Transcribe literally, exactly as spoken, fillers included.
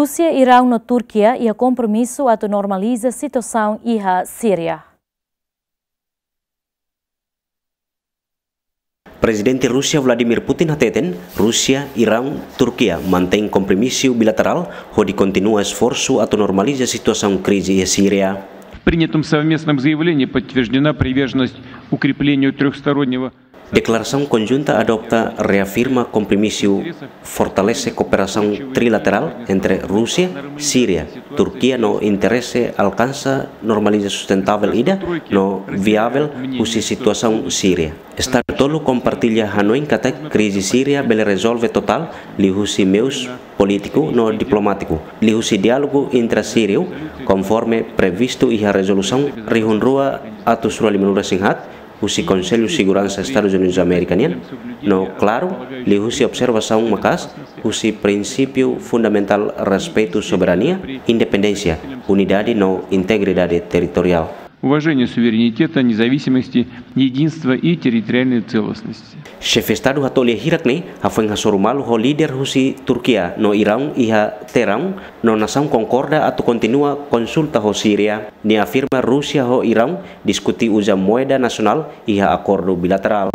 Rúsia, Iraun no Turkia iha kompromisu atu normaliza situasaun iha Síria. Prezidente Rúsia Vladimir Putin hateten, Rúsia, Iraun, Turkia mantein kompromisu bilaterál hodi kontinua esforsu atu normaliza situasaun krize iha Síria. Принятым совместным заявлением подтверждена приверженность укреплению трёхстороннего Deklarasaun konjunta adopta reafirma kompromisu fortalese kooperasaun trilaterál entre Rúsia, Síria, Turkia no interese alkansa normalizasaun sustentável ida no viavel husi situasaun Síria. Estadu tolu kompartilla hanoin katak krize Síria bele rezolve totál liuhusi meius polítiku no diplomátiku, liuhusi diálogu intra-síriu, konforme previstu iha rezolusaun rihun rua atus rua limanulu-resin-haat, husi Konsellu Seguransa Estadus Unidus Amérika nian, no klaru, liuhusi observasaun maka'as husi prinsípiu fundamentál respeitu soberania, independénsia, unidade no integridade territoriál. Уважение суверенитета, независимости, единства и территориальной целостности. Xefe Estadu hato'o lia hirak ne'e hafoin hasoru malu ho líder husi Turkia no Iraun iha Teeraun, no nasaun konkorda atu kontinua konsulta ho Síria. Nia afirma Rúsia ho Iraun diskute uza moeda nasionál iha akordu bilaterál.